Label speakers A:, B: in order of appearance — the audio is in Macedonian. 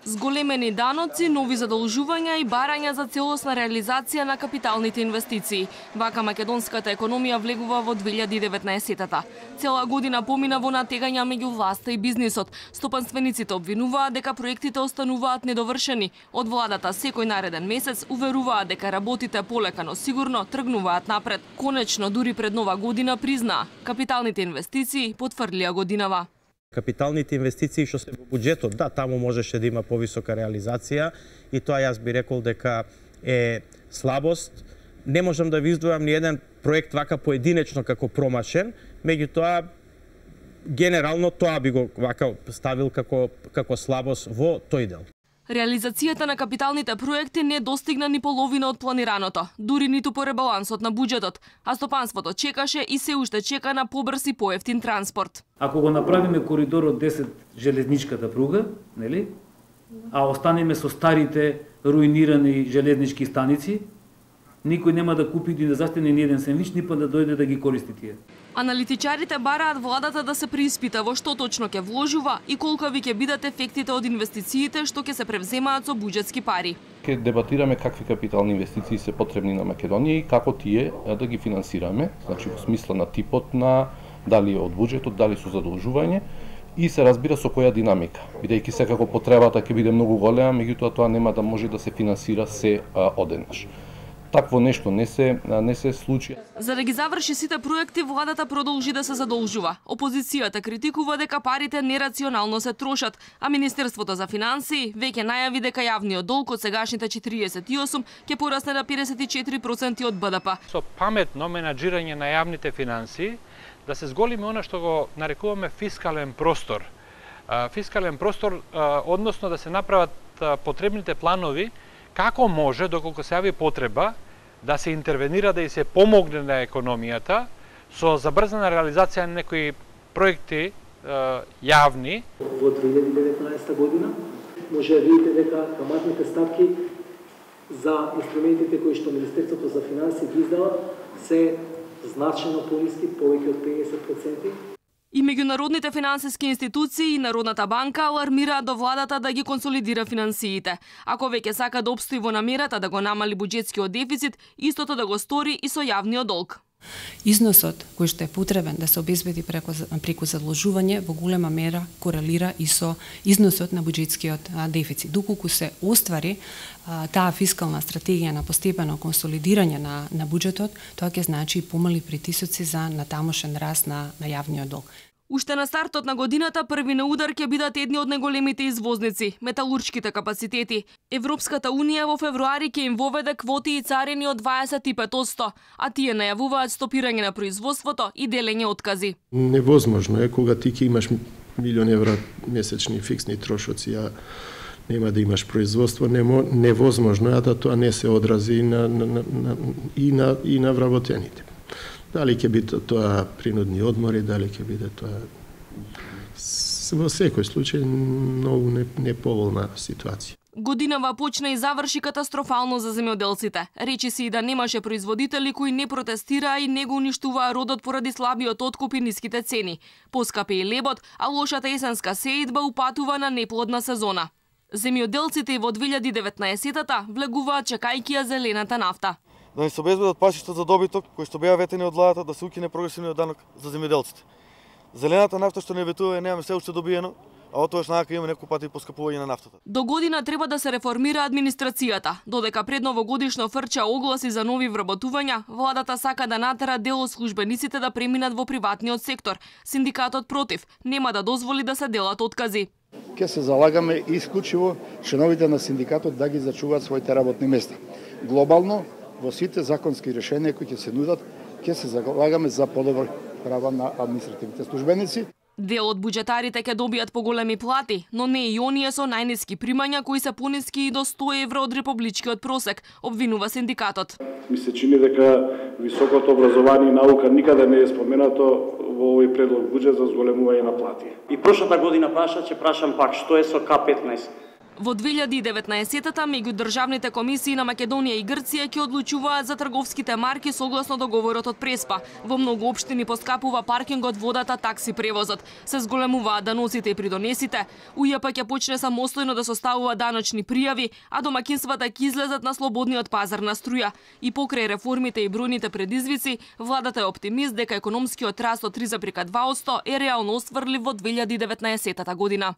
A: Зголемени даноци, нови задолжувања и барања за целосна реализација на капиталните инвестиции. Вака македонската економија влегува во 2019-та. Цела година помина во натегања меѓу власта и бизнисот. Стопанствениците обвинуваат дека проектите остануваат недовршени. Од владата секој нареден месец уверуваат дека работите полека но сигурно тргнуваат напред. Конечно, дури пред нова година признаа, капиталните инвестиции потврдилија годинава.
B: Капиталните инвестиции што се во буџетот, да, таму можеше да има повисока реализација и тоа јас би рекол дека е слабост. Не можам да ви издвојам ни еден проект вака поединечно како промашен, меѓутоа генерално тоа би го вака ставил како слабост во тој дел.
A: Реализацијата на капиталните проекти не достигна ни половина од планираното, дури ниту по ребалансот на буџетот, а стопанството чекаше и се уште чека на побрз и поевтин транспорт.
C: Ако го направиме коридорот 10 железничката пруга, нели? А останеме со старите руинирани железнички станици, никој нема да купи и да застане ни еден сендвич, ни па да дојде да ги користи тие.
A: Аналитичарите бараат владата да се преиспита во што точно ќе вложува и колкави ќе бидат ефектите од инвестициите што ќе се превземаат со буџетски пари.
D: Ќе дебатираме какви капитални инвестиции се потребни на Македонија и како тие да ги финансираме, значи во смисла на типот на дали од буџетот, дали со задолжување и се разбира со која динамика. Бидејќи секако потребата ќе биде многу голема, меѓутоа тоа нема да може да се финансира се одеднаш. Такво нешто не се случи.
A: За да ги заврши сите проекти, владата продолжи да се задолжува. Опозицијата критикува дека парите нерационално се трошат, а Министерството за финансии веќе најави дека јавниот долг од сегашните 48 ќе порасне на 54% од БДП.
E: Со паметно менаџирање на јавните финансии да се зголеми она што го нарекуваме фискален простор. Фискален простор, односно да се направат потребните планови како може, доколку се јави потреба, да се интервенира, да и се помогне на економијата со забрзана реализација на некои проекти јавни.
F: Во 2019 година може да видите дека каматните ставки за инструментите кои што Министерството за финансии ги издава се значајно пониски, повеќе од 50%.
A: И меѓународните финансиски институции и Народната банка алармираат до владата да ги консолидира финансиите. Ако веќе сака да обстои во намерата да го намали буџетскиот дефицит, истото да го стори и со јавниот долг.
G: Износот кој што е потребен да се обезбеди преку задолжување во голема мера корелира и со износот на буџетскиот дефицит. Доколку се оствари таа фискална стратегија на постепено консолидирање на буџетот, тоа ќе значи помали притисоци за натамошен раст на јавниот долг.
A: Уште на стартот на годината први на удар ќе бидат едни од најголемите извозници – металуршките капацитети. Европската унија во февруари ќе им воведе квоти и царини од 25%, а тие најавуваат стопирање на производството и делење откази.
H: Невозможно е кога ти ќе имаш милион евра месечни фиксни трошоци, а нема да имаш производство, невозможно е да тоа не се одрази и на вработените. Дали ќе биде тоа принудни одмори, дали ќе биде тоа во секој случај многу неповолна ситуација.
A: Годинава почна и заврши катастрофално за земјоделците. Речи се и да немаше производители кои не протестираа и не го уништуваа родот поради слабиот откуп и ниските цени. Поскапе и лебот, а лошата есенска сеидба упатува на неплодна сезона. Земјоделците во 2019-та влегуваат чекајќи ја зелената нафта.
I: Да ни се обезбедат пасишта за добиток, кои што беа ветени од владата, да се укине прогресивниот данок за земјоделците. Зелената нафта што не ветува немаме се уште добиено, а отоаш нака има неколку пати поскапување на нафтата.
A: До година треба да се реформира администрацијата. Додека пред новогодишно фрча огласи за нови вработувања, владата сака да натера дел од службениците да преминат во приватниот сектор. Синдикатот против, нема да дозволи да се делат откази.
J: Ќе се залагаме исклучиво членовите на синдикатот да ги зачуваат своите работни места. Глобално, во сите законски решенија кои ќе се нудат, ќе се залагаме за подобро права на административните службеници.
A: Дел од буџетарите ќе добијат поголеми плати, но не и оние со најниски примања кои се пониски и до 100 евро од републичкиот просек, обвинува синдикатот.
K: Ми се чини дека високото образование и наука никаде не е споменато во овој предлог буџет за зголемување на плати.
L: И прошата година праша, ќе прашам пак, што е со К15?
A: Во 2019-та меѓудржавните комисии на Македонија и Грција ќе одлучуваат за трговските марки согласно договорот од Преспа. Во многу општини поскапува паркингот, водата, такси превозот. Се зголемуваат даноците и придонесите. УЈП ќе почне самостојно да составува даночни пријави, а домаќинствата ќе излезат на слободниот пазар на струја. И покрај реформите и бројните предизвици, владата е оптимист дека економскиот раст од 3,2% е реално остварлив во 2019 година.